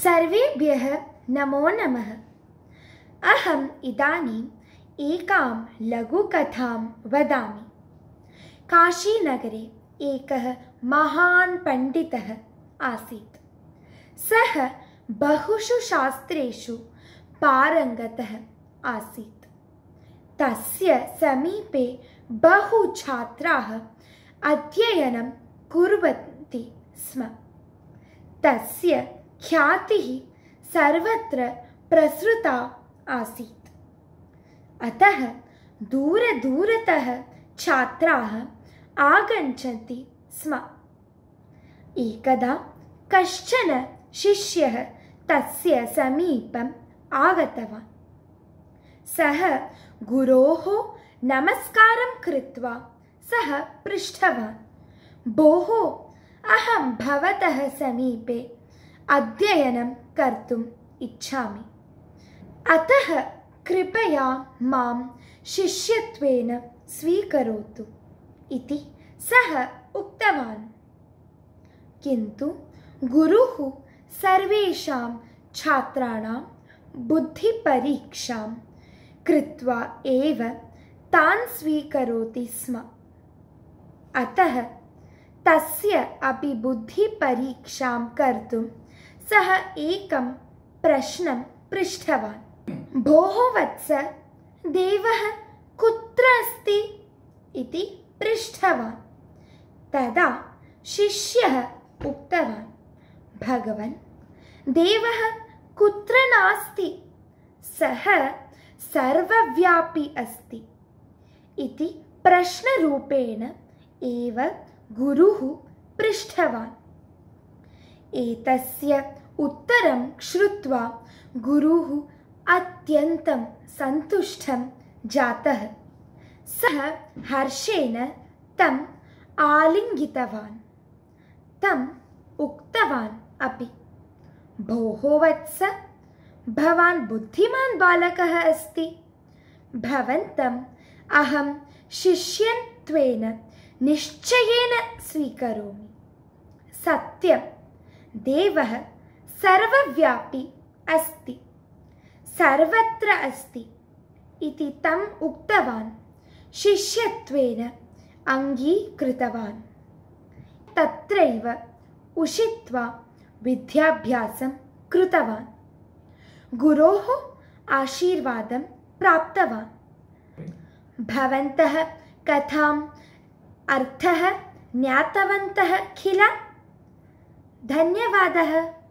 सर्वेभ्यः नमो नमः। अहम् इदानीम् एकां लघुकथां वदामि। काशीनगरे एकः महान् पण्डितः आसीत्। सः बहुषु शास्त्रेषु पारङ्गतः आसीत्। तस्य समीपे बहु छात्राः अध्ययनं कुर्वन्ति स्म। तस्य ख्यातिः सर्वत्र प्रसृता आसीत्। अतः दूरदूरतः छात्राः आगच्छन्ति स्म। एकदा कश्चन शिष्यः तस्य समीपम् आगतवान्। सः गुरोः नमस्कारं कृत्वा सः पृष्टवान्, भोः, अहं भवतः समीपे अध्ययनं कर्तुम् इच्छामि। अतः कृपया मां शिष्यत्वेन स्वीकरोतु इति सः उक्तवान्। किन्तु गुरुः सर्वेषां छात्राणां बुद्धिपरीक्षां कृत्वा एव तान् स्वीकरोति स्म। अतः तस्य अपि बुद्धिपरीक्षां कर्तुं सः एकं प्रश्नं पृष्टवान्। भोः वत्स, देवः कुत्र अस्ति इति पृष्टवान्। तदा शिष्यः उक्तवान्, भगवन्, देवः कुत्र नास्ति, सः सर्वव्यापी अस्ति इति प्रश्नरूपेण एव गुरुः पृष्टवान्। एतस्य उत्तरं श्रुत्वा गुरुः अत्यन्तं सन्तुष्टः जातः। सः हर्षेण तम् आलिङ्गितवान्। तम् उक्तवान् अपि, भोः वत्स, भवान् बुद्धिमान् बालकः अस्ति। भवन्तम् अहं शिष्यत्वेन निश्चयेन स्वीकरोमि। सत्यं, देवः सर्वव्यापी अस्ति, सर्वत्र अस्ति इति तम् उक्तवान्। शिष्यत्वेन अङ्गीकृतवान्। तत्रैव उषित्वा विद्याभ्यासं कृतवान्। गुरोः आशीर्वादं प्राप्तवान्। भवन्तः कथाम् अर्थः ज्ञातवन्तः किल? धन्यवादः।